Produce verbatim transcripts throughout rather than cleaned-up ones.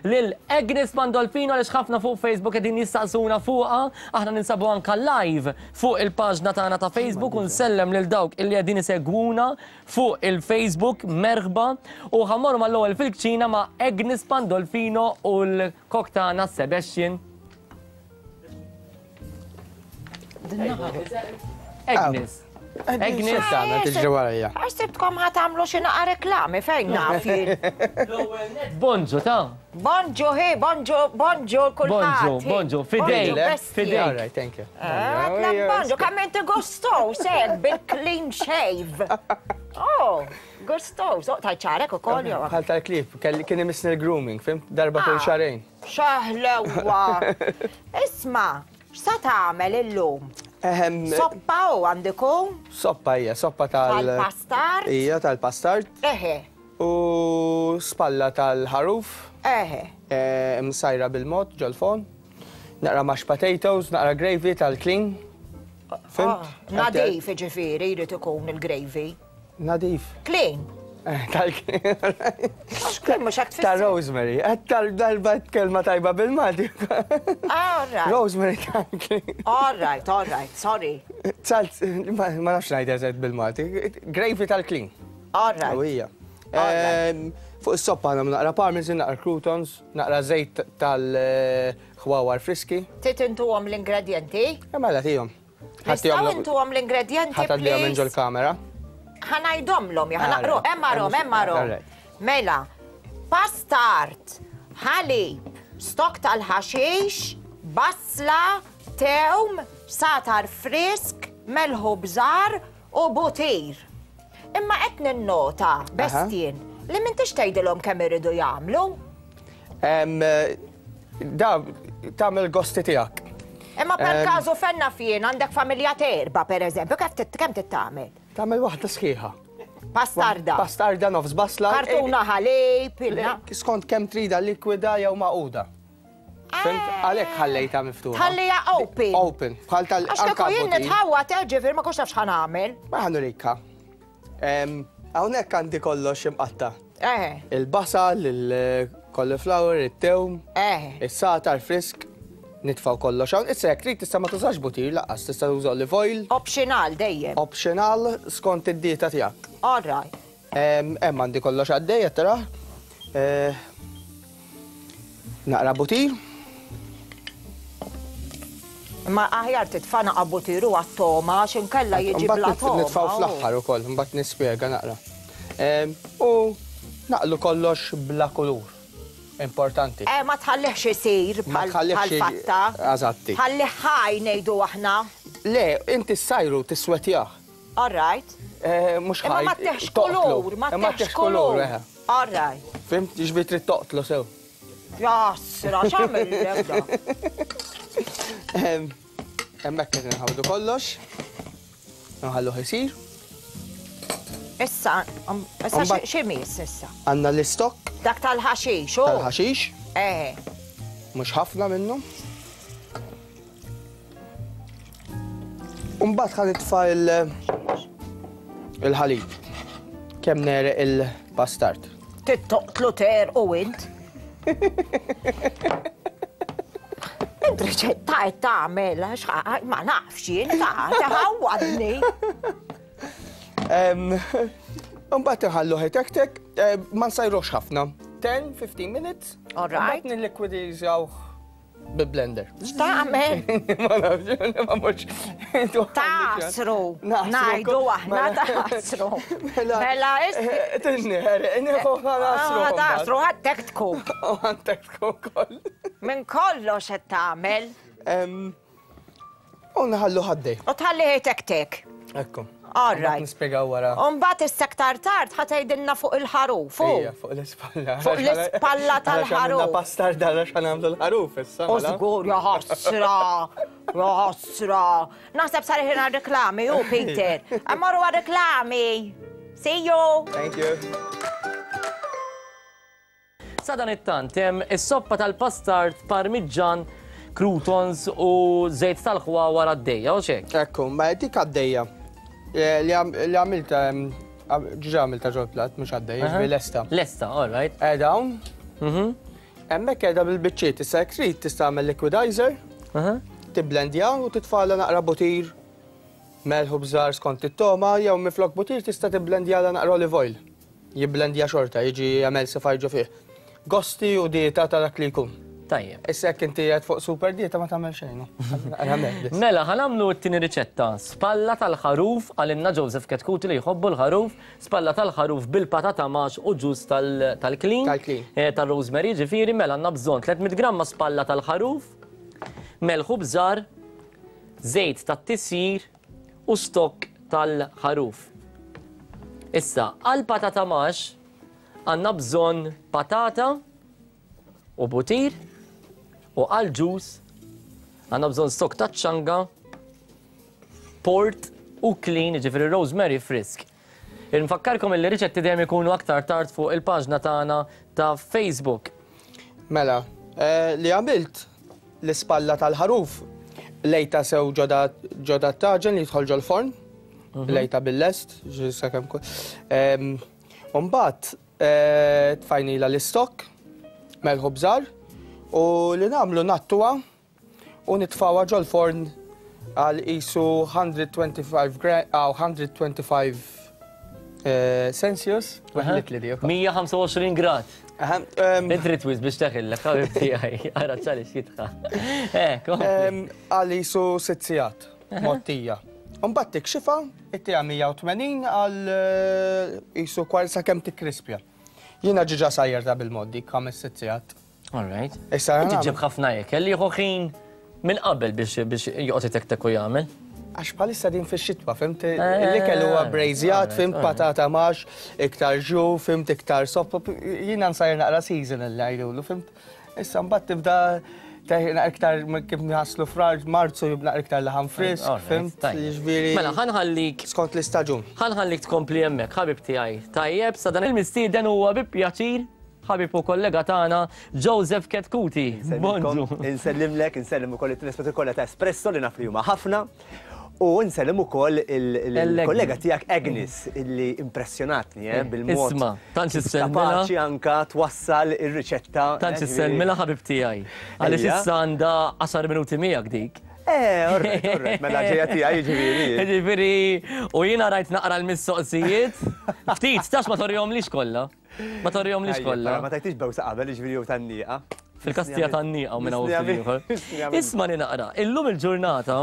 Lil Agnes Pandolfino, għaliex ħafna fuq Facebook qegħdin jistaqsuna fuqha. Aħna ninsabu anka live fuq il-paġna tagħna ta' Facebook u nsellem lil dawk illi qegħdin isegwuna fuq il-Facebook, merħba, u ħa mmorru mal-ewwel fil-kċina ma' Agnes Pandolfino u l-kok tagħna Sebastian. Agnes. Agnes. Tagħna tiġri warajja. Ħsibtkom ħa tagħmlu xi naqa reklami, fejn naf jien. L-ewwel net bonġu ta'. Bonġu hi, bonġu, bonġu kulħadd. Bonġu, bonġu, fidejk, fidejk. All right, thank you. Għatlek bonġu, kemm inti gustos, hekk bil-clean shave. Oh, gustos, oh, tajt ċarek ukoll jew. Bħal tal-klib, kien imissni l-grooming, fim? Darba kull xarejn. Xaħlewa. Isma', x'sa tagħmel illum? Soppa u għandiku? Soppa hija, soppa tal- Tal-pastard? Hija tal-pastard. Eħe. U spalla tal-ħaruf. Eħe. Msajra bil-mod ġol-fon. Naqra mashed potatoes, naqra gravy tal-clean. Fimt? Nadif ġifieri jrid ikun il-gravy. Nadif. Clean. Tal-clean. Mhux hekk Ta' rosemary. Tal-darba kelma tajba bil-Malti. All right. Rosemary tal-clean. All right, all right, sorry. Salt, ma nafx ngħid eżatt bil-Malti. Gravy tal-clean. All right. Ija. Fuq is-soppa għandna naqra parmesan, naqra croutons, naqra żejt tal-ħwawar friski. Trid intuhom l-ingredjenti? Mela tihom. Nistgħu intuhom l-ingredjenti, Ħa tgħaddihom minn please? ġol-kamera. Ħa ngħidhomlhom, ħa naqru, hemm arhom, hemm arhom. Mela, pastard, ħalib, stok tal-ħaxix, basla, tewm, satar frisk, melħu bżar u butir. Imma qed ninnota, Bestien, li m'intix tgħidilhom kemm iridu jagħmlu. Da, tagħmel gosti tiegħek. Imma per każu fenna fien għandek familja terba, per eżempju, kemm titgħamel? Tagħmel waħda sħiħa. Pastarda. Pastarda nofs basla. Kartuna ħalib, ilna. Skont kemm trida likwida jew maquda. Fhimt? Għalhekk ħallejtha miftuħa. Tħallija open. Open. Bħal tal Għax kieku jien nitħawwa ġifier ma kontx naf x'ħa nagħmel. Ma ħa nurikha. Hawnhekk għandi kollox imqatta. Eħe. Il-basal, il-cauliflower, it-tewm. Eħe. Is-satar frisk. Nitfaw kollox hawn. Issa jekk trid tista' ma tużax butir lanqas, tista' tuża olive oil. Optional dejjem. Optional skont id-dieta tiegħek. All right. Hemm għandi kollox għaddej qed tara. Naqra butir. Ma aħjar titfa' naqa' butiru għat-toma għax inkella jiġi bla toma. Nitfaw fl-aħħar ukoll, mbagħad nispjega naqra. U naqlu kollox bla kulur. Importanti. Eh, ma tħallihx isir Ma tħallihx bħal-fatta. Eżatti. Tħallih ħaj ngħidu aħna. Le, inti ssajru tiswetjah. All right. Mhux ħaj. Imma ma teħx kulur, ma teħx kulur. All right. Fimt, ġifieri trid toqtlu sew. Jasra, x'għamel da? Hemmhekk qed inħawdu kollox. Nħalluh isir. Issa, issa xi miss issa? Għandna l-istok. Dak tal-ħaxix, u? Tal-ħaxix. Eħe. Mhux ħafna minnu. U mbagħad ħa nitfa' il-ħalib. Kemm nereq il-pastard. Tittoqtlu ter u int. Int riċetta qed tagħmel, ma nafx jien, taħawwadni. Mbagħad inħalluh itektek, ma nsajruhx ħafna. ten fifteen minutes. All right. Mbagħad nillikwidizjawh bil-blender. X'tagħmel? Ma nafx, ma mhux. Tasru. Ngħidu aħna tasru. Mela tinniħer, nieħu nasru. Tasru ħadtek tkun. Ħadtek tkun koll. Minn kollox qed tagħmel. U nħallu ħaddej. U tħallih itektek. Ekku. All right. Nispjegaw wara. U mbagħad issa aktar tard ħa tgħidilna fuq il-ħaruf. Ija, fuq l-ispalla. Fuq l-ispalla tal-ħaruf. Għax pastarda għax ħa nagħmlu l-ħaruf issa. U żgur, ja ħasra, ja ħasra. Naħseb sar ħin għar-reklami, u Peter. Ammorru għar-reklami. See you. Thank you. Sadanittant, hemm is-soppa tal-pastard, parmiġġan, croutons u żejt tal-ħwawar għaddejja, u xek? Ekku, ma dik għaddejja. Li għamilta, ġiġa għamilta ġol plat, mhux għaddejja, ġifieri lesta. Lesta, all right. Dawn. Hemmhekk qiegħda bil-biċċiet, issa jekk trid tista' tagħmel liquidizer, tibblendja u titfagħla naqra butir, melħ u bżar skont it-togħma, jew minflok butir tista' tibblendjala naqra olive oil. Jibblendja xorta, jiġi emulsify ġo fih. Gosti u dieta ta' dak li jkun. Tajjeb. Issa jekk inti qed fuq super dieta ma tagħmel xejn. Mela, ħa nagħmlu t-tieni riċetta. Spalla tal-ħaruf, għalinna Joseph Chetcuti li jħobbu l-ħaruf, spalla tal-ħaruf bil-patata max u ġus tal-klin. Tal-klin. Tal-rosemary, ġifieri, mela għandna bżonn tliet mitt gramma spalla tal-ħaruf, melħ u bżar, żejt tat-tisjir u stokk tal-ħaruf. Issa, għal patata max għandna bżonn patata u butir, u għal ġus għandna bżonn stokk ta' ċanga, port u klin, ġifieri rosemary frisk. Infakkarkom li riċetti dejjem ikunu aktar tard fuq il-paġna tagħna ta' Facebook. Mela, eh, li għamilt l-ispalla tal-ħaruf lejta sew ġoda taġen li jidħol ġol-forn, Mhm. lejta bil-lest, sakemm ku-. Em, Umbagħad, eh, tfajnila l-istokk, melħ u bżar, u li nagħmlu nattuha u nitfawha ġol-forn għal isu hundred twenty-five gra-, aw, hundred twenty-five, eh, Celsius. Aha. Weħlit li dik. mija ħamsa u għoxrin grad. Aha, em, Intri twis biex teħillek, ħabib tiegħi, ara ċali x'jitħa. Eh, kompli. Em, għal isu sitt sigħat, mottija. Mbagħad tikxifa, ittija mija u tmenin għal, eh, isu kwart sakemm tikkrispja. Jiena ġiġa sajjer ta' bil-moddi, ħames sitt sigħat. All right. Issa Inti nagħmel. ġib ħafna ikel li jieħu ħin minn qabel biex, biex joqgħod itektek u jagħmel. Għax bħalissa din fix-xitwa, fimt? Eh, L-ikel huwa eh, brejżjat, eh, fimt eh. patata max, iktar ġu, fimt iktar soppa. Jiena nsajjer naqra seasonal li jgħidulu, fimt? Issa mbagħad tibda teħ-, iktar kif nħasslu frar, Marzu jibna iktar laħam frisk, All right, fimt? tajjeb. Jiġifieri Mela, ħanħallik skont l-istaġun. Ħanħallik tkompli hemmhekk, ħabib tiegħi. Tajjeb, sa dan il-mistieden huwa bi pjaċir ħabib u kollega tagħna Joseph Chetcuti. Bonġu. Insellimlek, insellem ukoll it-telespettatur kollha ta' Espresso li naf li huma ħafna. U nsellem ukoll il-, il-, il-kollega tiegħek Agnes illi impressjonatni, eh, bil-mod. Isma, tantx issellmilha. Kapaċi anka twassal ir-riċetta. Tantx eh, issellmilha ħabib tiegħi. Għaliex Ejja. issa għandha għaxar minuti miegħek dik. Eh, orrejt, orrejt, mela ġejja tiegħi jiġifieri. Jiġifieri, u jiena rajt naqra l-mistoqsijiet. Ftit, tax ma torjomlix kollha. Ma torjomlix Ejja, kollha. però ma tajtix bewsa qabel, jiġifieri jew tan-nieqa. Fil-kastija tan-nieqa u minn hawn Nisni ftit ieħor. għamil- nisni Isma' li naqra, illum il-ġurnata,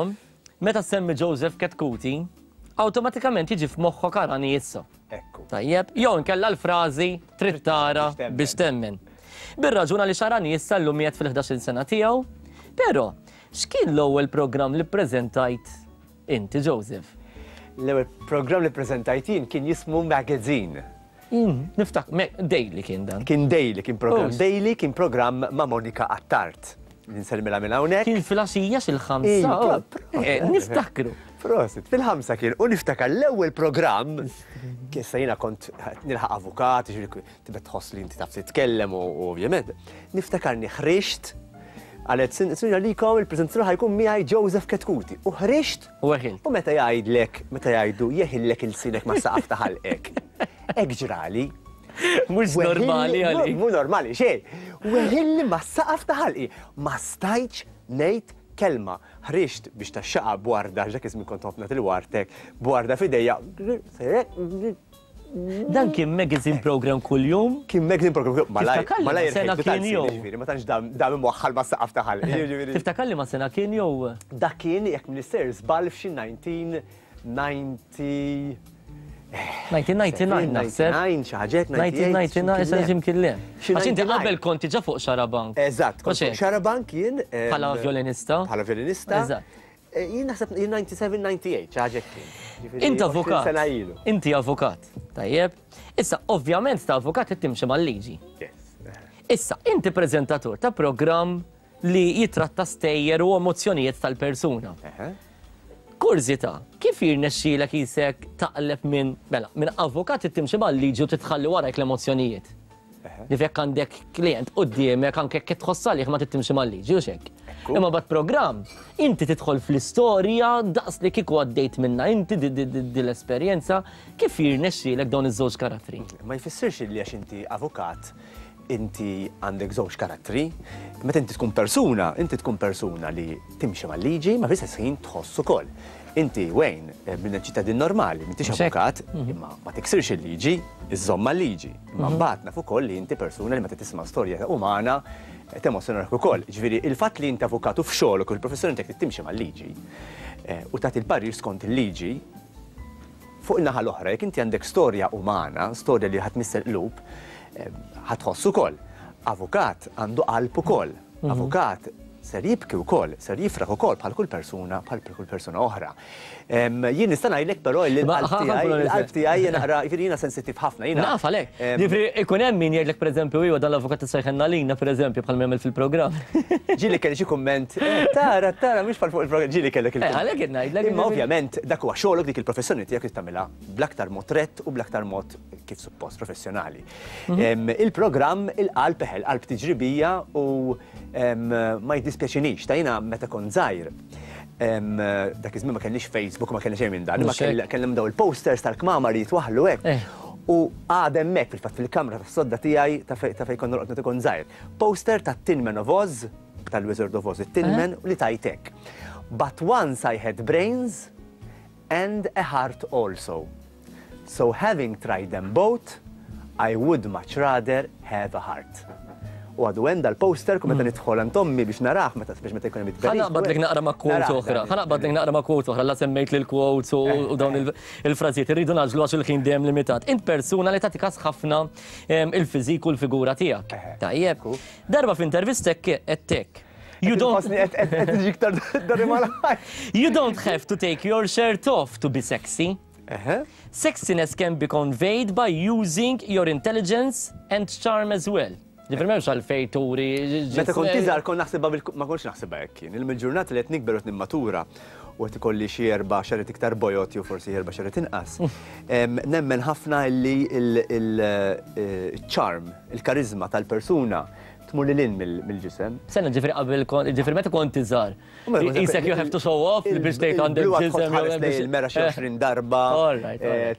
meta semmi Joseph Chetcuti, awtomatikament jiġi f'moħħok arani issa. Ekku. Tajjeb, jew inkella l-frażi trid tara Biex temmen. biex temmen. Bir-raġuna li xarani issa llum qiegħed fil-ħdax-il sena tiegħu, però x'kien l-ewwel programm li ppreżentajt inti, Joseph? L-ewwel programm li ppreżentajt jien kien jismu Magazine. Mm, niftak, me, daily kien dan. Kien daily, kien programm Ux. daily, kien programm ma' Monika Attard. Nselmilha minn hawnhekk. Kien fil-għaxija xil-ħamsa. Iva, oh. proset. Eh, niftakru. Prosit, fil-ħamsa kien, u niftakar l-ewwel programm, kissa jiena kont nilħaq avukat, jiġifieri tibda tħoss li inti taf titkellem u u ovvjament. Niftakarni ħriġt, għalet sinjora likom il-preżentatur ħajkun miegħi Joseph Chetcuti. U ħriġt U weħilt. U meta jgħidlek, meta jgħidu jeħillek il-sinek ma' saqaf ta' ħalqek. Hekk ġrali. Mhux normali Weħilli- għalik. Mhu normali xejn. Weħilli ma' saqaf ta' ħalqi. Ma stajtx ngħid kelma. Ħriġt biex taxxaqa bwarda, dak iż-żmien kont ħafna til-wartek, bwarda f'idejja. Dan kien magazine program kuljum? Kien magazine program kuljum. Malaj, Tiftakar li malaj ma sena irħejtu kien tal-sin, jew? jiġifieri, ma tantx dam, dam imwaħħal ma' saqaf ta' ħalqi, jiġifieri. Tiftakar li ma sena kien jew? Dak kien, jekk minister, żball f'xi nineteen ninety nineteen ninety-nine naħseb. ninety-nine, xi ħaġa hekk, nineteen ninety-nine, xi xi x'imkien le. Xi Għax inti ninety-nine. qabel konti ġa fuq Xarabank. Eżatt, kont Mhux fuq hekk? Xarabank jien, ehm, Bħala violinista. Bħala violinista. Eżatt. Eh, jien naħseb jien ninety-seven, ninety-eight, xi ħaġa hekk kien. Ġifieri Int għoxrin avukat. sena ilu. Inti avukat. Tajjeb. Issa, ovvjament ta' avukat qed timxi mal-liġi. Yes. Issa, inti preżentatur ta' programm li jitratta stejjer u emozzjonijiet tal-persuna. Eħe. Kurżità, kif jirnexxielek jisek taqleb minn, mela, minn avukat timxi mal-liġi u titħalli warajk l-emozzjonijiet? Eħe. Li fekk għandek klient quddiemek anke jekk tħoss għalih ma tittimxi mal-liġi u xek. Ekku. Imma bad programm, inti tidħol fl-istorja daqs li kieku għaddejt minna inti di, di, di, di l-esperjenza, kif jirnexxielek dawn iż-żewġ karattri? Ma jfissirx li għax inti avukat inti għandek żewġ karattri. Meta inti tkun persuna, inti tkun persuna li timxi mal-liġi, ma fl-istess ħin tħoss ukoll. Inti Wayne, minn ċittadin normali, m'intix avukat, imma ma tiksirx il-liġi, iżżomm mal-liġi. Imma mbagħad naf ukoll li inti persuna li meta tisma' storja umana temozzjonak ukoll. Ġifieri il-fatt li inti avukat u f'xogħolok u l-professjoni tiegħek timxi mal-liġi u tagħti l-parir skont il-liġi, fuq in-naħa l-oħra, jekk inti għandek storja umana, storja li ħadd missel qlub, ħatħoss ukoll. Avukat għandu qalb ukoll. Avukat ser jibki wkoll, ser jifraħ ukoll bħal kull persuna, bħal kull persuna oħra. Jien nista' ngħidlek però li l-qalb tiegħi, l-qalb tiegħi naqra, jiġifieri jiena sensittiv ħafna. Naf għalhekk. Jiġifieri ikun hemm min jgħidlek pereżempju iwa dan l-avukat issejħilna lilna pereżempju bħal m'għamel fil-programm. Ġieli kelli xi kumment, tara, tara, mhux bħal fuq il-programm, ġieli kellek il-kumment. Għalhekk qed ngħidlek. Imma ovvjament dak huwa xogħolok, dik il-professjoni tiegħek li tagħmilha bl-aktar mod rett u bl-aktar mod kif suppost professjonali. Il-programm il-qalb eħel, qalb tiġri bija u ma jiddispjaċinix. Ta' jiena meta kont żgħir, dak iż-żmien ma kellniex Facebook, ma kellna xejn minn dan, imma kellna daw il-posters tal-kmamar li jitwaħħlu hekk. U għad hemmhekk fil-fatt fil-kamra tas-sodda tiegħi ta' fejn kont norqod meta kont żgħir. Poster tat-Tin Man of Oz, tal-Wizard of Oz, it-Tin Man li tajtek. But once I had brains and a heart also. So having tried them both, I would much rather have a heart. U għadu hemm dal-poster kum meta nidħol għand ommi biex narah meta biex meta jkun hemm it-tberik. Ħa naqbadlek naqra ma' quote oħra, ħa naqbadlek naqra ma' quote oħra, la semmejt lil quotes u dawn il-frażijiet, irridu naġlu għax il-ħin dejjem limitat. Int persuna li tagħti każ ħafna il-fiżik u l-figura tiegħek. Tajjeb. Darba f'intervistek qed hekk. You don't You don't have to take your shirt off to be sexy. Sexiness can be conveyed by using your intelligence and charm as well. Ġifieri m'hemmx għalfejn turi. Meta kont iżgħar kont naħsibha ma kontx naħsibha hekk kien. Il-ġurnata li qed nikber u qed nimmatura u qed ikolli xi erba' xaret iktar bojot jew forsi erba' xaret inqas. Nemmen ħafna li il-charm, il-karizma tal-persuna tmur lil hinn mill-ġisem. Sena ġifieri qabel ġifieri meta kont iżgħar. Isek you have to show off li biex tgħid għandek ġisem. Il-mera xi għoxrin darba.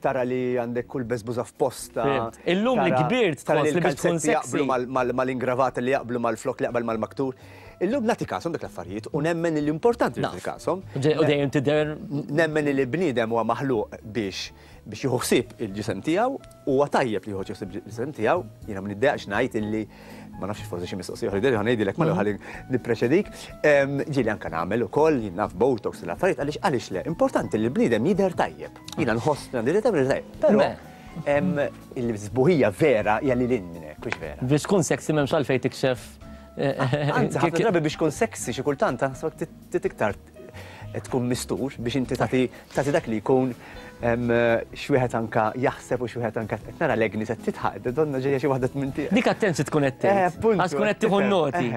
Tara li għandek kull beżbuża f'posta. Illum li kbirt tħoss li biex tkun sexy. Mal-ingravata li jaqblu mal-flok li jaqbel mal-maktur. Illum nagħti kasom dak l-affarijiet u nemmen li importanti li nagħti kasom. U dejjem tidher. Nemmen li l-bniedem huwa maħluq biex biex jieħu ħsieb il-ġisem tiegħu, huwa tajjeb li jieħu ħsieb il-ġisem tiegħu. Jiena ma niddejjaqx ngħid illi ma nafx forsi xi mistoqsija oħra ħa ngħidilek ma ħalli nippreċedik. Ġieli anke nagħmel ukoll jien naf botox l-affarijiet għaliex għaliex le, importanti li l-bniedem jidher tajjeb. Jiena nħoss li għandi tajjeb. Però il-sbuħija vera hija lil hinn minn hekk, mhux vera. Biex tkun sexy m'hemmx għalfejn tikxef. Anzi, ħafna drabi biex tkun sexy xi kultant taħseb iktar tkun mistur biex inti tagħti dak li jkun xwieħed anka jaħseb u xwieħed anka qed nara l-egni se titħaq, donna ġejja xi waħda minn tiegħek. Dik attenzjoni tkun qed tgħid. Għax tkun qed tieħu noti.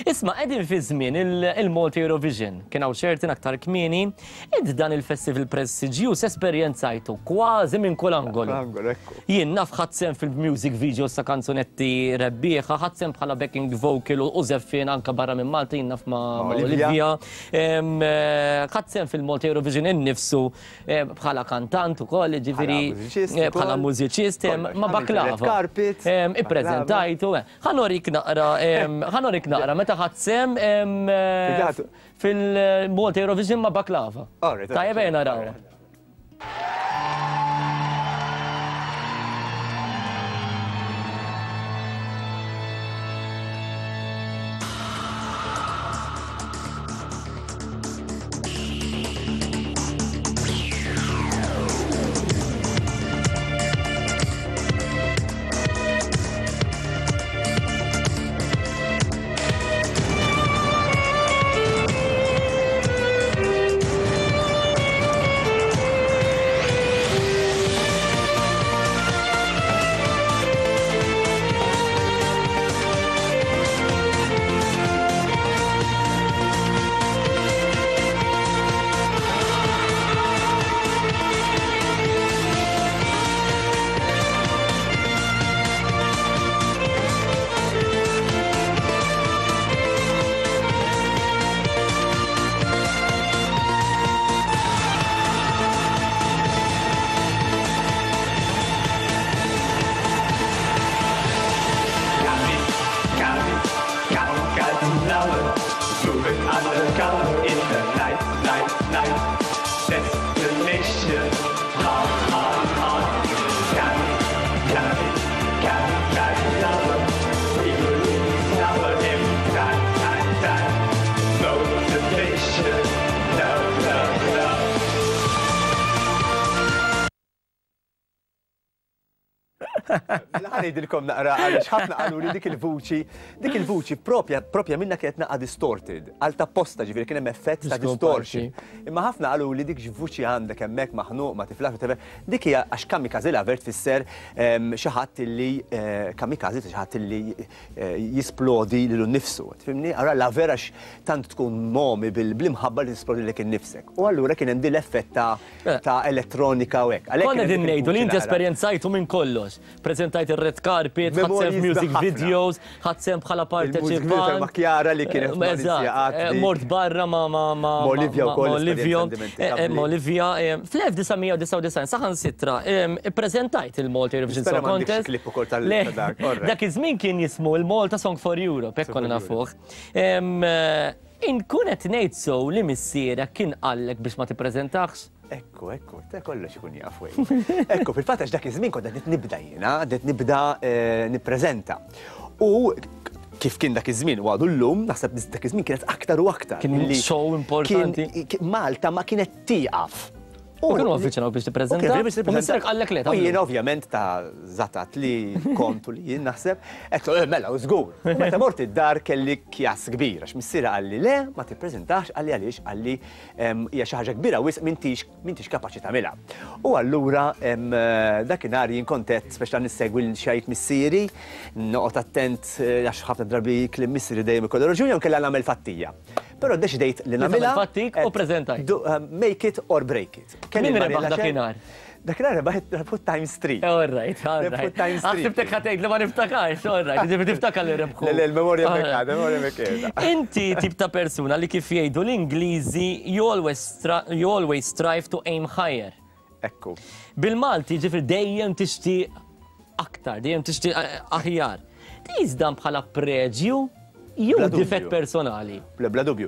Isma' qegħdin fi żmien il-Malta Eurovision, kien hawn xertin aktar kmieni, id dan il-festival prestiġjuż esperjenzajtu kważi minn kull angolu. Jien naf ħadd sehem fil-music videos ta' kanzunetti rebbieħa, ħadd sehem bħala backing vocal u żeffien anka barra minn Malta, jien naf ma' Olivia. Ħadd sehem fil-Malta Eurovision innifsu bħala kantant ukoll, ġifieri bħala mużiċist, ma' Baklava. Ippreżentajtu. Ħa norik naqra, ħa norik naqra meta ħadd sehem fil-Malta Eurovision ma' Baklava. Tajjeb ejja naraw. Ħa ngħidilkom naqra għaliex ħafna qalu li dik il-vuċi, dik il-vuċi propja propja minna kienet naqa distorted, għal ta' posta ġifieri kien hemm effett ta' distortion. Imma ħafna qalu li dik vuċi għandek hemmhekk maħnuq ma tiflax dik hija għax kamikaze lover tfisser xi ħadd illi kamikaze xi ħadd illi jisplodi lilu nnifsu. Tifhimni? Allura lover għax tant tkun momi bil-imħabba li tisplodi lilek innifsek. U allura kien hemm din l-effett ta' elettronika u hekk. Konna din ngħidu li inti esperjenzajtu minn kollox. Preżentajt ir-red carpet, ħadt sehem music videos, ħadt sehem bħala parteċipant. Ma' Kjara li kienet Mort barra ma' ma' ma' Olivia wkoll. Olivia. Olivia. Fl-elf disa' mija u disgħa u disgħin saħansitra ippreżentajt il-Malta Eurovision Song Contest. Dak iż-żmien kien jismu il-Malta Song for Europe, hekk konna nafuh. Inkun qed ngħid sew li missierek kien qallek biex ma tippreżentax? Ekku, ekku, ta' kollox ikun jaf wejn. Ekku, fil-fatt għax dak iż-żmien kont qed nibda jiena, qed nibda nippreżenta. U kif kien dak iż-żmien u għadu llum, naħseb dak iż-żmien kienet aktar u aktar. Kien show importanti. Malta ma kienet tieqaf. U kienu avviċinaw biex tippreżenta. U missierek qallek le. U jien ovvjament ta' zatat li kontu li jien naħseb, qed mela u żgur. U meta mort id-dar kelli kjas kbir għax missiera qalli le, ma tippreżentax, qalli għaliex, qalli hija xi ħaġa kbira wisq m'intix m'intix kapaċi tagħmilha. U allura dakinhar jien kont qed speċa nissegwi xajt missieri, noqgħod attent għax ħafna drabi kliem missieri dejjem ikollu raġuni jew kellha nagħmel fattija. Però ddeċidejt li nagħmilha. Fattik u preżentajt. Make it or break it. Min rebaħ dakinhar? Dakinhar rebaħ rebħu Times Three. All right, all right. Ħsibtek ħa tgħid li ma niftakarx, all right, ġifieri tiftakar li rebħu. Le, le, l-memorja mekka, l-memorja mekka. Inti tip ta' persuna li kif jgħidu l-Ingliżi you always you always strive to aim higher. Ekku. Bil-Malti ġifieri dejjem tixtieq aktar, dejjem tixtieq aħjar. Tqis dan bħala preġju jew difett personali? Bla dubju.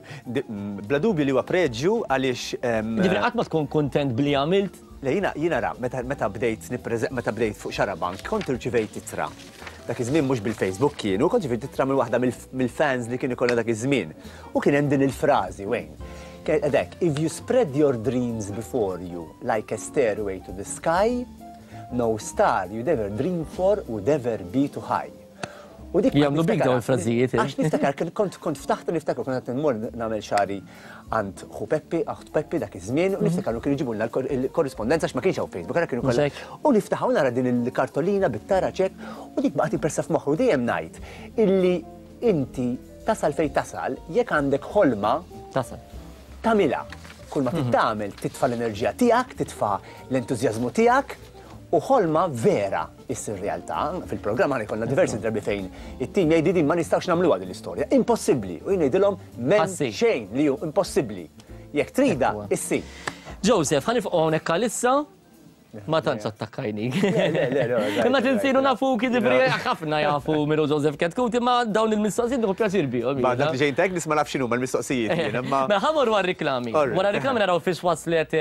Bla dubju li huwa preġju għaliex. Ġifieri qatt ma tkun kuntent bli għamilt? Le jiena jiena ra, meta bdejt meta bdejt fuq Xarabank kont irċivejt ittra. Dak iż-żmien mhux bil-Facebook kienu, kont irċivejt ittra minn waħda mill-fans li kien ikollna dak iż-żmien. U kien hemm din il-frażi wejn. Kien if you spread your dreams before you like a stairway to the sky, no star you'd ever dream for would ever be too high. U dik Jagħmlu bik dawn il-frażijiet. Għax niftakar kont kont ftaħt niftakar kont qed nmur nagħmel xari għand ħu Peppi, aħt Peppi dak iż-żmien u niftakar kienu jġibulna l-korrispondenza għax ma kienx hawn Facebook, ara kienu kollha. U niftaħ nara din il-kartolina bit-tara ċek u dik baqgħet impressa f'moħħu dejjem ngħid illi inti tasal fejn tasal jekk għandek ħolma tasal. Tagħmilha. Kull ma tagħmel titfa' l-enerġija tiegħek, titfa' l-entużjażmu tiegħek. U ħolma vera issir realtà. Fil-programm għana jkollna diversi drabi fejn it-tim jgħidi din ma nistgħux nagħmluha din l-istorja. Impossibbli. U jien ngħidilhom m'hemm xejn li hu impossibbli. Jekk trida, issir. Joseph, ħa nifqgħu hawnhekk għalissa. Ma tantx attakkajnik. Le, le, le. Imma tinsiru nafuk, jiġifieri ħafna jafu minnu Joseph Chetcuti, imma dawn il-mistoqsijiet nieħu pjaċir bihom. Ma dak li ġejn tek nisma' naf x'inhuma l-mistoqsijiet jien, imma. Mela ħa mmorru għar-riklami. Wara r-riklami naraw fiex waslet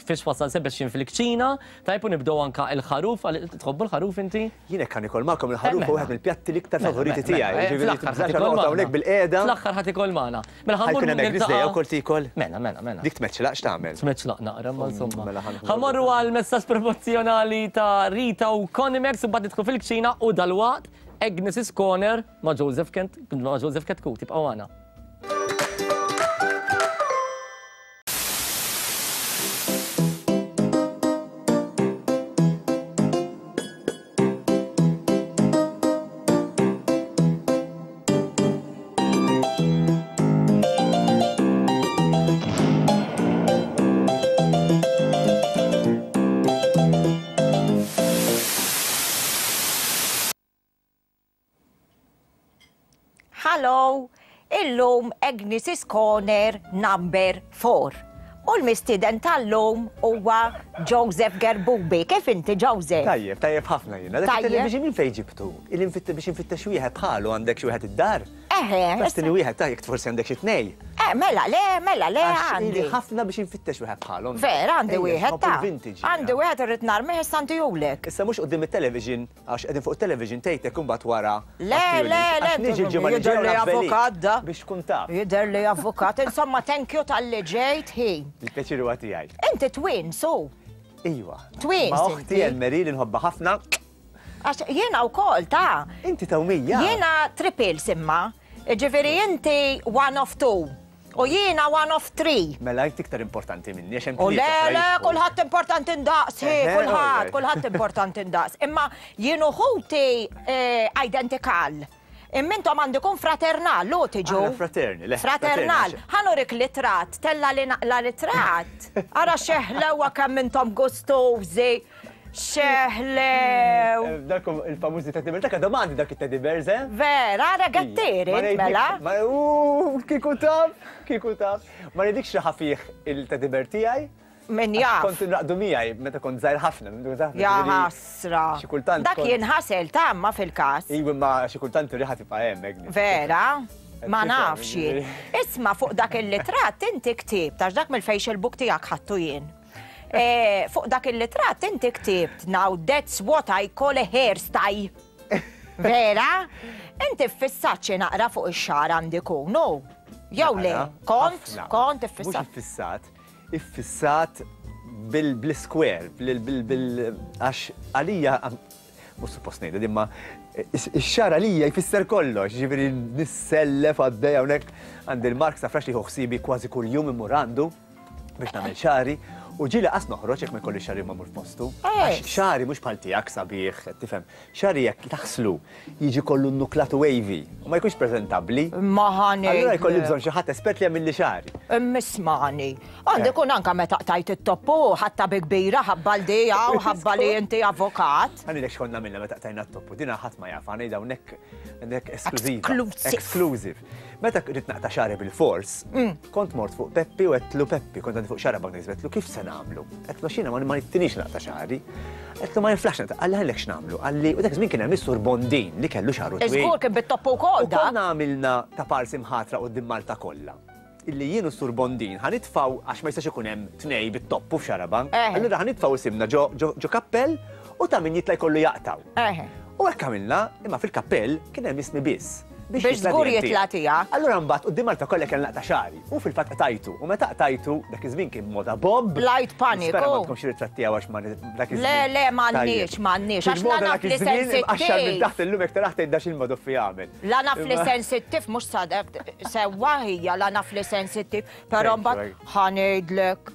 fiex wasal Sebastian fil-kċina, tajb u nibdew anka il-ħaruf, tħobbu l-ħaruf inti? Jien hekk nikol magħkom il-ħaruf huwa wieħed mill-pjatti l-iktar favoriti tiegħi. Ġifieri tibżax noqgħod hawnhekk bil-qiegħda. Fl-aħħar ħadd ikol magħna. Mela ħa mmorru niltaqgħu wkoll tikol. Mela, mela, mela. Dik tmeċċlaq x'tagħmel? Tmeċċlaq naqra, ma insomma. Ħa mmorru għal messaġġ promozzjonali ta' Rita u Conimex u mbagħad nidħlu fil-kċina u dalwaqt Agnes's Corner ma' Joseph Kent, ma' Joseph Chetcuti. Tibqgħu magħna. Hello, illum Agnes's Corner number four. U l-mistieden tal-lum huwa Joseph Gerbubi. Kif inti, Joseph? Tajjeb, tajjeb ħafna jiena. Dak it-television minn fejn ġibtu? Il biex infittex wieħed bħalu għandek xi wieħed id-dar? Eħe. Bastini wieħed tajjeb forsi għandek xi tnej. Eh, mela le, mela le għandi. Ħafna biex infittex wieħed bħalhom. Vera, għandi wieħed ta' għandi wieħed irrid narmih issa ntihulek. Issa mhux quddiem it-television, għax qegħdin fuq it-television tgħidlek imbagħad wara. Le, le, le, niġi l-ġimgħa li jidher li avukat da. Biex tkun taf. Jidher li avukat. Insomma, thank you talli ġejt ħin. Il-pjaċir huwa tiegħi. Inti twin, su. Iva. Twins. Ma' oħti Elmeri li nħobbha ħafna. Għax jiena wkoll ta' Inti tewmija. Jiena triples imma. Ġifieri inti one of two. U jiena one of three. Mela inti iktar importanti minni, għax hemm U le, tlieta le, oħra kulħadd importanti ndaqs, hi, Eħe, kulħadd, alright. kulħadd importanti ndaqs. Imma jien u ħuti eh, identical. Imma intom għandikun fraternal, lu tiġu. Aħna fraterni, le, Fraternal. fraterni. Ħa nurik ritratt, tella li naqla ritratt. Ara x'ħlewwa kemm intom gustużi. X'ħlew. Eh, Dak il-famużi teddy bear, dak għadhom għandi dak it-teddy bears, eh? Vera, ara gattieri, Ma ngħidlikx- mela. Ma u kieku taf, kieku taf. Ma ngħidlikx xi ħafih il-teddy bear tiegħi. Min Għax jaf. Kont nraqdu miegħi meta kont żgħir ħafna. meta kont żgħir ħafna, Ja ġifieri ħasra. Xi kultant Dak kont- jinħasel tamma fil-kas. Iwa ma xi kultant ir-riħa tibqa' hemm, Agnes. Vera? Ma Tifhem, nafx jien. ġifieri. Isma' fuq dak il-litratt inti ktibt, għax dak mill-Facebook tiegħek ħadtu jien. Eh, Fuq dak il-litratt inti ktibt, now that's what I call a hairstyle. Vera? Inti ffissat xi naqra fuq ix-xagħar għandiku, no? Jew le, Naqra, kont, ħafna. kont Mhux iffissat. iffissat, iffissat bil- bil-square, bil- bil- bil- għax għalija, mhux suppost ngħidha imma ix-xagħar għalija jfisser kollox, ġifieri nissellef għaddej hawnhekk għandi il-Mark Safrax li ħsibi kważi kuljum immur għandu biex nagħmel xagħri u ġieli qas noħroġ jekk ma jkolli xagħri ma mmur f'postu. Għax xagħri mhux bħal tiegħek sabiħ, tifhem. Xagħri jekk taħslu jiġi kollu nuklat wavy u ma jkunx preżentabbli. Ma ħani. Allura jkolli bżonn xi ħadd espert li jagħmel li xagħri. Immismani. Għandi kun anka meta qtajt it-toppu, ħatta bi kbira, ħabba l-dija u ħabba li inti avokat. Għanilek xkonna minna meta qtajna t-toppu, dina ħadd ma jaf, għanejda hawnhekk għandek esklużiva. Exclusive. Exclusive. Meta rrid naqta' xagħri bil-fors, kont mort fuq Peppi u għedtlu Peppi, kont għandi fuq Xarabank għedtlu kif se nagħmlu? Għedtlu xina ma ma nittinix naqta' xagħri. Għedtlu ma niflax naqta', qalli ħallek x'nagħmlu? Qalli, u dak iż-żmien kien hemm is-Sur Bondin li kellu xagħru twil. Iżgur kien bit-toppu wkoll U dak. konna għamilna ta' parsi mħatra quddiem Malta kollha. Illi jien u Sur Bondin ħa nitfgħu għax ma jistax ikun hemm tnej bit-toppu f'Xarabank. Eħe. Allura ħa nitfgħu isimna ġo ġo ġo kappell u ta' min jitla' jkollu jaqtaw. Eħe. U hekk għamilna, imma fil-kappell kien hemm ismi biss. Biex żgur jitla' jitla' tiegħek. Allura mbagħad quddiem Malta kollha kien naqta' xagħri u fil-fatt qtajtu. U meta qtajtu dak iż-żmien kien moda bob. Light panic, Nispera ma oh. tkunx ritratti tiegħu għax ma dak iż-żmien. Le, le, m'għandniex, Tajjeb. m'għandniex, għax Kien moda la naf dak li iż-żmien, imqaxxar minn sensittiv. taħt illum jekk taraħ tgħid dax il-madoffi jagħmel. La naf li Imma- sensittiv, mhux sadek, sewwa hija la naf li sensittiv, però Thank you, mbagħad ħa ngħidlek.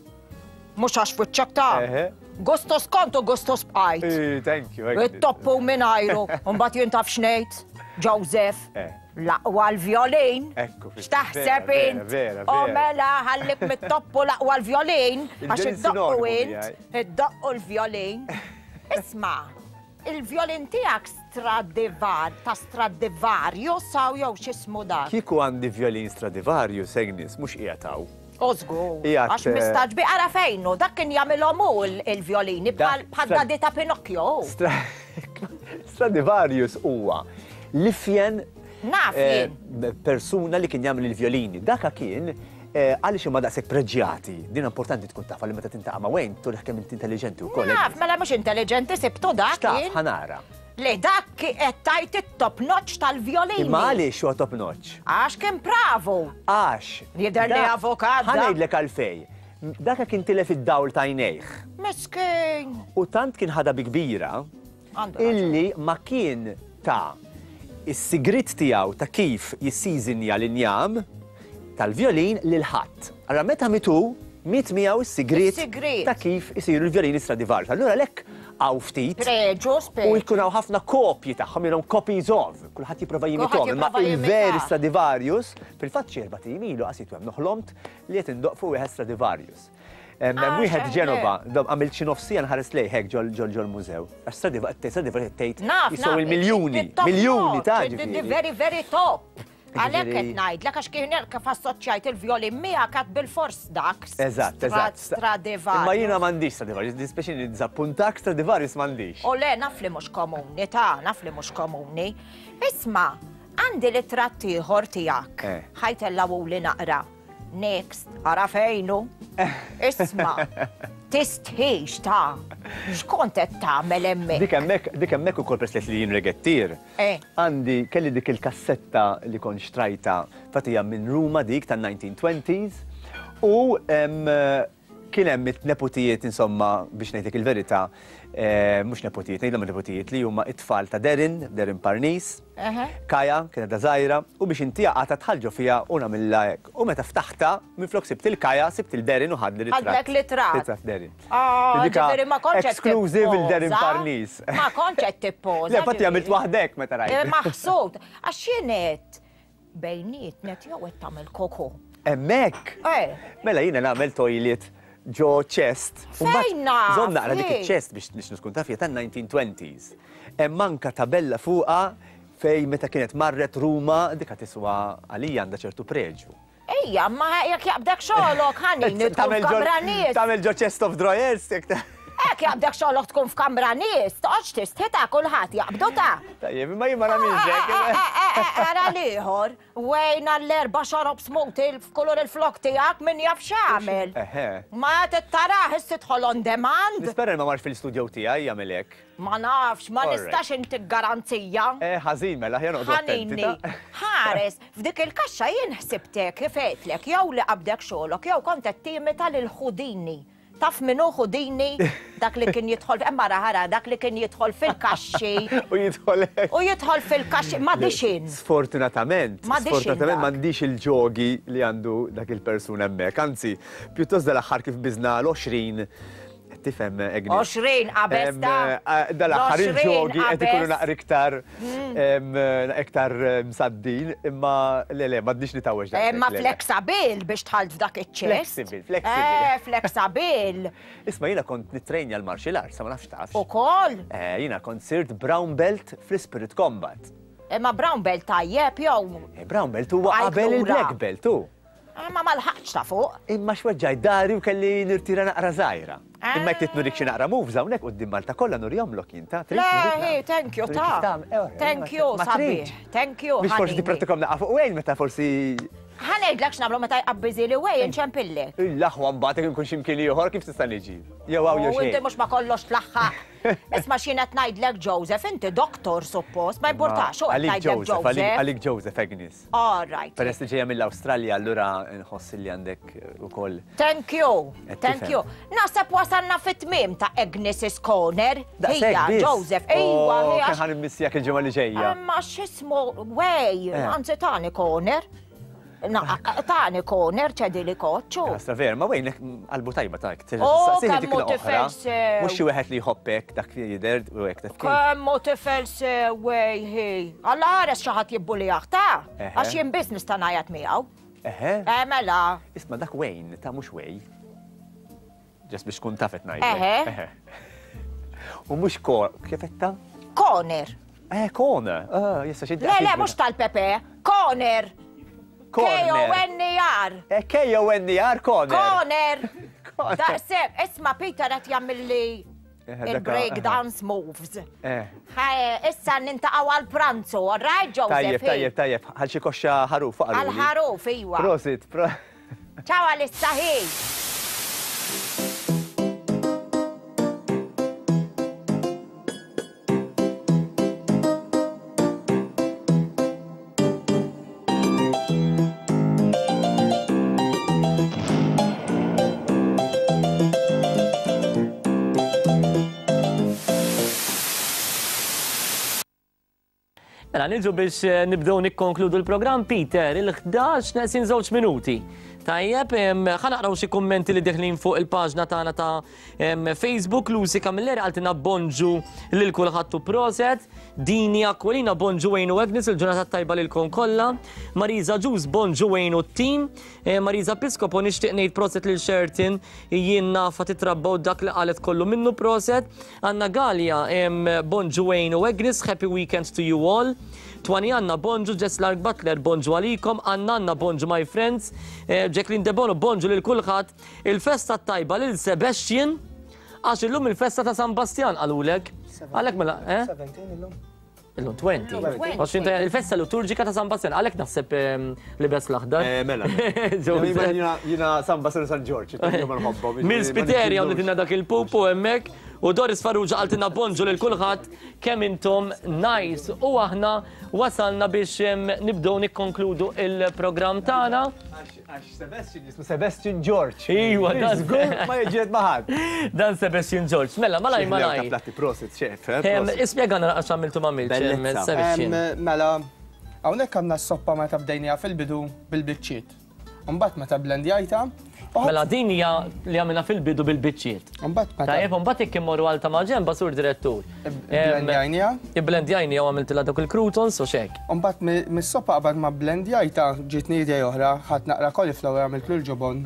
Mhux għax fuċċak ta' Eħe. Gustos kont u gustos bqajt. Eh, Thank you. Agnes. It-toppu minn ajru, mbagħad jien taf x'ngħid, Joseph. Eh. L-aqwa l-violin. Ekku, fil- X'taħseb vera, int? vera, O vera. mela ħallik mit-toppu l-aqwa l-violin, għax Il-violin iddoqqu sinonimu int, miegħi. iddoqqu l-violin. Isma', il-violin tiegħek Stradivar, ta' Stradivarius saw jew x'ismu dak. Kieku għandi violin Stradivarius, Agnes, mhux qiegħed hawn. Ożgur, Qiegħed, għax eh, mistaġbi ara fejnu, dak kien jagħmilhom hu l- il-violini Dak- bħal bħal dadi ta' Pinocchio. Stra- Stradivarius huwa l-ifjen Naf eh, jien. persuna li kien jagħmel il-violini. Daka kien eh, għaliex huma daqshekk preġjati. Din importanti tkun taf li meta tintaqa' ma' Wayne turih kemm inti intelligenti wkoll. Naf, mela mhux intelligenti sibtu dak Taf kien. ħa nara. Le dak qed tajt it-top notch tal-violini. Imma għaliex huwa top notch? Għax kien pravu. Għax. Jidher li dak- avokat dak. Ħa ngħidlek għalfej. Daka kien tilef id-dawl t'għajnejh. Miskin. U tant kien ħada bi kbira Għandu raġun. illi ma kien ta' is-sigrit tiegħu ta' kif jissiżinja l-injam tal-violin lil ħadd. Allora meta mitu, miet miegħu is-sigrit Is-sigrit. ta' kif isiru l-violini Stradivarius. Allura lek hawn ftit Preġu, u speċi. jkun hawn ħafna kopji tagħhom, jilhom copies of, kulħadd jipprova jimithom, imma jipprova il-veri jimita. Stradivarius, fil-fatt xi erba' ijiem ilu qasitu hemm noħlomt li qed indoq fuq wieħed Stradivarius. Hemm Ah, wieħed xeħle. Ġenova, dom għamilt xi nofsija nħares lejh hekk ġol ġol ġol mużew. Għax Stradivarius Stradivarius tgħid Naf, jiswew naf. il-miljuni, it-top miljuni notch, ta' the- the ġifieri. Very, very top. Għalhekk qed Ġifieri- ngħidlek għax kien kif assoċjajt il-violin miegħek għad bil-fors dak. Eżatt, eżatt. Stradivarius. Imma jiena m'għandix Stradivarius, dispeċini nizappuntak Stradivarius m'għandix. U le, naf li mhux komuni, ta' naf li mhux komuni. Isma', għandi ritratt ieħor tiegħek. Eh. Ħa jtellgħu li naqra. Next, ara fejnu. Isma', tistħix ta' x'kont qed tagħmel hemmhekk? Dik hemmhekk, dik hemmhekk ukoll peress li jien regettir. Eh. Għandi kelli dik il-kassetta li kont xtrajta fatija minn Ruma dik tan-nineteen twenties u em, Kien hemm it-nepotijiet insomma biex ngħidlek il-verità, mhux nepotijiet, ngħidlhom nepotijiet li huma it-tfal ta' Darren, Darren Parnis, Kaja, kienet da żgħira, u biex intiha qata tħallġu fiha u nagħmilha hekk. U meta ftaħta, minflok sibt il-Kaja, sibt il-Darren u ħadli ritratt. Ħadlek ritratt. Ritratt Darren. Ah, ġifieri ma kontx exclusive il-Darren Parnis. Ma kontx qed tippoża. Le, fatti għamilt waħdek meta rajt. Maħsud, għax jien bejniet net jew qed tagħmel koko. Hemmhekk. Mela jiena nagħmel toilet ġo chest. Fejn naf? Żomm naqra dik iċ-chest biex niskun taf hija tan-nineteen twenties. Hemm anke tabella fuqha fej meta kienet marret Ruma dik tiswa għalija għandha ċertu preġu. Ejja, ma jekk jaqbdek xogħolok ħanin tkun f'kamra nies. Tagħmel ġo chest of drawers jekk Ek jaqbdek xogħolok tkun f'kamra nies, toqgħodx tistħita kulħadd jaqbdu ta'. Tajjeb, imma jien ma nagħmilx hekk. Ara l-ieħor, wejna l-erba' xorob smoothie f'kulur il-flok tiegħek min jaf x'għamel. Ma tittarah issa tidħol on demand. Nispera ma marx fil-studio tiegħi jagħmel hekk. Ma nafx, ma nistax intik garanzija. Eh, ħażin mela ħja noqgħod attenti. Ħares, f'dik il-kaxxa jien ħsibtek kif għedtlek jew li qabdek xogħolok jew kont qed timita lil Houdini. Taf minnu Houdini, dak li kien jidħol, imma ħara, dak li kien jidħol fil-kaxxi. U jidħol U jidħol fil-kaxxi, ma dixin. Sfortunatament, sfortunatament m'għandix il-ġogi li għandu dak il-persuna hemmhekk. Anzi, pjuttost dal-aħħar kif biżna l-għoxrin, tifhem Agnes. għoxrin qabeż ta' Dal-aħħar il-ġogi qed ikunu naqra iktar iktar msaddin, imma le le m'għadniex nitgħawweġ dak. Imma flexibil biex tħalt f'dak iċ-ċest. Flexibil, flexibil. Eh, flexibil. Isma' jiena kont nittrejnja l-martial arts, ma nafx tafx. Ukoll? Eh, jiena kont sirt brown belt fl-Spirit Combat. Imma brown belt tajjeb jew? Brown belt huwa qabel il-black belt hu. Ma ma lħaqx ta' fuq. Imma xweġġaj dari u kelli nirtira naqra żgħira. Imma jekk trid nurik xi naqra moves hawnhekk quddiem Malta kollha nurjomlok jien ta' trid. Le, thank you ta' Thank you sabiħ. Thank you. Biex forsi tippratikom naqa' fuq Wayne meta forsi. Ħa ngħidlek x'nagħmlu meta jqabbiżili Wayne nċempillek. Il-aħwa mbagħad jekk inkun xi mkien ieħor kif tista' niġi. Jew hawn jew xejn. U inti mhux ma kollox tlaħħaq. Isma' x'jien qed ngħidlek Joseph, inti doktor suppost, ma importax x'hu qed ngħidlek Joseph. Għalik Joseph Agnes. All right. Peress li ġejja mill-Awstralja allura nħoss li għandek ukoll. Thank you. Thank you. Naħseb wasalna fit-tmiem ta' Agnes's Corner. Hija Joseph, ejwa hija. Kemm ħa nimmissjak il-ġimgħa li ġejja. Imma x'ismu Way, anzi tani corner. Tani corner ċedi li koċċu. Għastra ver, ma Wayne qalbu tajba tak. Oh, kemm hu tifel sew. Mhux xi wieħed li jħobbek dak li jidher u hekk taf. Kemm hu tifel sew Way hi. Alla ħares xi ħadd jibbulih ta' għax jien biss nista' ngħajjat miegħu. Eħe. Eh mela. Isma' dak Wayne ta' mhux Way. Ġest biex tkun tafet ngħidlek. Eħe. U mhux kor, kif qed ta'? Corner. Eh, corner. Ah, jista' xi. Le, le, mhux tal-Pepe. Corner. K O N E R. K O N E R, corner. Corner. Daqshekk, isma' Peter qed jagħmilli il-break dance moves. Issa nintaqgħu għall-pranzu, all right, Joseph? Tajjeb, tajjeb, tajjeb. Għal xi koxxa ħaruf faqru. Għal ħaruf, iwa. Prosit, pro. Ciao għalissa hi. Mela, niġu biex nibdew nikkonkludu l-programm, Peter, il-ħdax neqsin żewġ minuti. Tajjeb, ħa naqraw xi kummenti li deħlin fuq il-paġna tagħna ta' Facebook. Lucy Camilleri qaltilna bonġu lil kulħadd u proset. Dini Aquilina bonġu Wayne u Agnes, il-ġurnata tajba lilkom kollha. Marisa Ġus bonġu Wayne u t-tim. Marisa Piscopo nixtieq ngħid proset lil Sherton, jien nafa titrabbaw dak li qalet kollu minnu proset. Anna Gallia bonġu Wayne u Agnes, happy weekend to you all. Twani Anna bonġu, Jess Lark Butler bonġu għalikom, Anna Anna bonġu my friends, Jacqueline Debono bonġu lil kulħadd, il-festa tajba lil Sebastian, għax illum il-festa ta' San Bastian qalulek. Għalhekk mela, eh? seventeen illum. Illum twenty. Il-festa liturġika ta' San Bastian, għalhekk naħseb libes l-aħdar. Mela. Jiena San Bastian u San Ġorġ, ma nħobbhom. Mill-Spiteri hawn dak il-pupu hemmhekk. U Doris Farrugia qaltilna bonġu lil kulħadd kemm intom nice. U aħna wasalna biex nibdew nikkonkludu il-programm tagħna. Għax Sebastian jismu Sebastian George. Iwa, dan żgur ma jiġiet ma' ħadd. Dan Sebastian George. Mela, malaj malaj. Platti prosit, xef. Ispjegana għax għamiltu ma għamiltx, Sebastian. Mela, hawnhekk għandna s-soppa meta bdejniha fil-bidu bil-biċċiet. Imbagħad meta blendjajta. Mela din hija li għamilna fil-bidu bil-biċċiet. Imbagħad meta. Tajjeb, imbagħad jekk immorru għal ta' maġenba sur direttur. Blendjajnija. Blendjajnija u għamiltilha dawk il-croutons u xek. Imbagħad mis-soppa qabad ma blendjajta ġietni idea oħra, ħadd naqra cauliflower għamiltlu l-ġobon.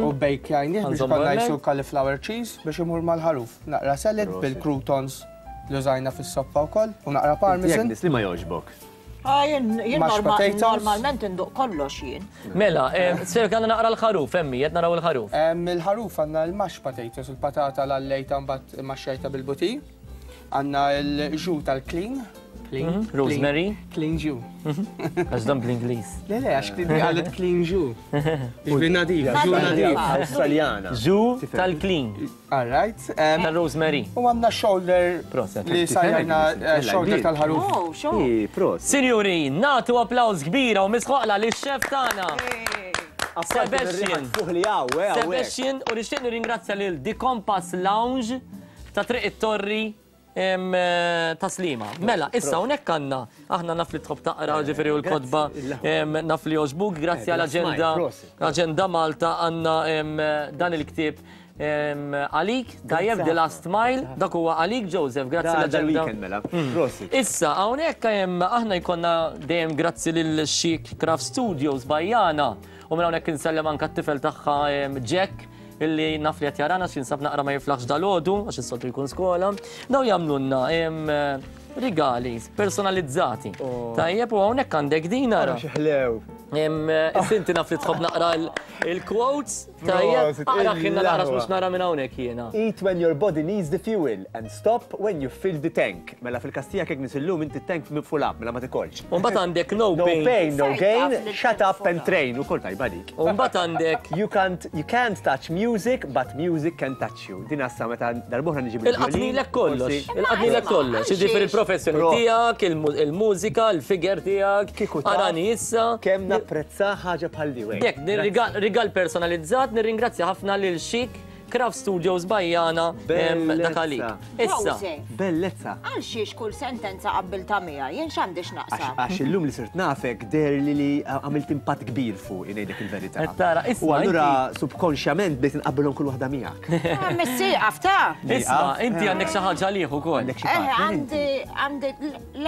U bejkjajnih biex konna jisu cauliflower cheese biex imur mal-ħaruf. Naqra salad bil-croutons li użajna fis-soppa wkoll u naqra parmesan. Li ma jogħġbok. Jien normalment induq kollox jien. Mela, ser għandna naqra l-ħaruf, emmi, qed naraw il-ħaruf. Il-ħaruf għandna l-mashed potatoes, il-patata l-allejta mbagħad maxxejta bil-buti. Għandna l-ġu tal-clean. Rosemary. Clean ġu. Għax dan bl-Ingliż. Le, le, għax għalet clean ġu. Ġu nadif, ġu nadif. Australjana. Ġu tal-clean. All right. Tal-rosemary. U għandna shoulder li sajjajna shoulder tal-ħaruf. Sinjuri, natu applaus kbira u misħoqla li xef tagħna. Sebastian. Sebastian, u nixtieq nirringrazzja lil The Compass Lounge ta' Triq it-Torri ta' Slima. Mela, issa hawnhekk għandna aħna naf li tħobb taqra ġifieri u l-kotba naf li jogħġbuk, grazzi għal aġenda Aġenda Malta għandna dan il-ktieb għalik, tajjeb The Last Mile, dak huwa għalik Joseph, grazzi l-aġenda. Issa hawnhekk aħna jkollna dejjem grazzi lil Chic Craft Studios Bajjana u minn hawnhekk insellem anke t-tifel tagħha Jack illi naf li qed jarana x'insab naqra ma jiflaħx dalodu għax is-soltu jkun skola. Daw jagħmlulna rigali personalizzati. Tajjeb u hawnhekk għandek din ara. Xi ħlew. Inti naf li tħobb naqra il-quotes. Tajjeb, aqra ħinna naqra mhux nara minn hawnhekk jiena. Eat when your body needs the fuel and stop when you fill the tank. Mela fil-kastija kek nisillum inti tank full up, mela ma tikolx. U mbagħad għandek no pain. No pain, no gain, shut up and train. Ukoll tajba dik. U mbagħad għandek you can't you can't touch music but music can touch you. Din assa meta darbohra niġi bil Il-qatnilek kollox. Il-qatnilek kollox. Jiġifieri il-professjoni tiegħek, il-mużika, il-figure tiegħek, arani issa. Kemm napprezza ħaġa bħal di. Dek, rigal personalizzat, nirringrazzja ħafna lil Chic Craft Studios Bajjana dak għalik. Issa. Bellezza. Għal xiex kull sentenza qabbilta miegħi, jien x'għandix naqsam. Għax illum li sirt nafek deher li li għamilt impatt kbir fuq ngħidlek il-verità. Tara, U allura subkonxjament bdejt inqabbilhom kull waħda miegħek. Missieqaf ta' Isma', inti għandek xi ħaġa għalih ukoll. Eh, għandi għandi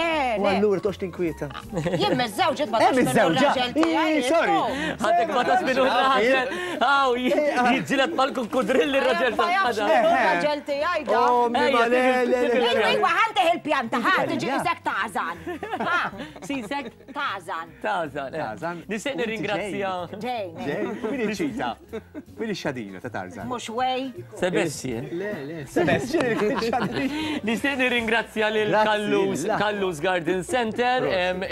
le. U allura toqgħodx tinkwieta. Jien miżżewġet ma tafx minnu r-raġel tiegħi. Sorry. Għandek ma tafx minnu r-raġel. Aw, jiġġieled mal-kukkudrilli r-raġel tal-ħadar. Ir-raġel tiegħi da. Iwa ħantih il-pjanta, ħa tiġi isek tażan. Sisek? Tażan. Tażan. Tażan. Nixtieq nirringrazzja. Ġejn. Ġejn. Min iċ-ċita? Min ix-xadina ta' Tarzan? Mhux wej. Sebastian. Le, le. Sebastian il-xadina. Nixtieq nirringrazzja lil Kallus, Kallus Garden Center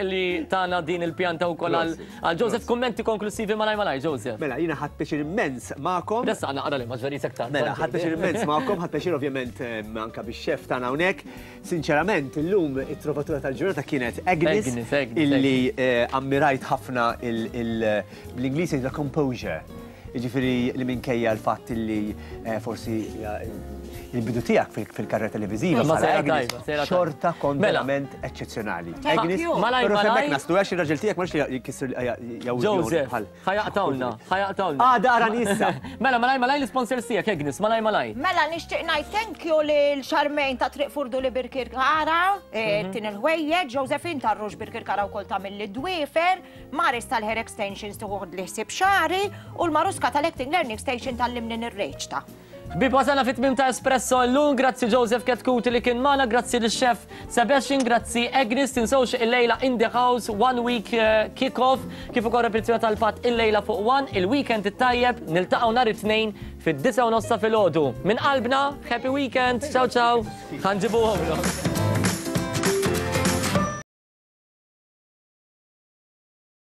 li tana din il-pjanta wkoll għal Joseph. Kummenti konklusivi malaj malaj, Joseph. Mela, jiena ħadt pjaċir immens magħkom. Ressaq naqra li ma ġverisek ta' Mela, ħadt pjaċir immens magħkom, ħadt pjaċir ovvjament anke bix-xef tagħna hawnhekk. Sinċerament, illum it-trovatura tal-ġurnata kienet Agnes, illi ammirajt ħafna bl-Ingliż la composure. Jiġifieri li minkejja l-fatt illi forsi il-bidu tiegħek fil-karriera televiżiva xorta kont verament eċċezzjonali. Agnes, però hemmhekk naslu għax ir-raġel tiegħek m'għandx li jkisser Joseph, ħajaqtawna, ħajaqtawna. Ah, dara nissa. Mela, malaj, malaj l-sponsors tiegħek, Agnes, malaj, malaj. Mela, nixtieq ngħid thank you lil Charmaine ta' Triq Furdu li Birkirkara, tin il-ħwejjeġ, Josephine tar-Rux Birkirkara wkoll tagħmel id-dwiefer, Maris tal-Hair Extensions tieħu li ħsieb xagħri u l-Maruska tal-Acting Learning Station tal-limni nirreċta. Ħbieb, wasalna fit-tmiem ta' Espresso llum, grazzi Joseph Ketkuti li kien magħna, grazzi lix-chef Sebastian, grazzi Agnes, tinsewx il-lejla in the house, one week kick-off, kif ukoll repetizzjoni tal-fatt il-lejla fuq one, il-weekend it-tajjeb, niltaqgħu nhar it-tnejn fid-disgħa u nofs ta' filgħodu. Minn qalbna, happy weekend, ciao ciao, ħanġibuhomlok.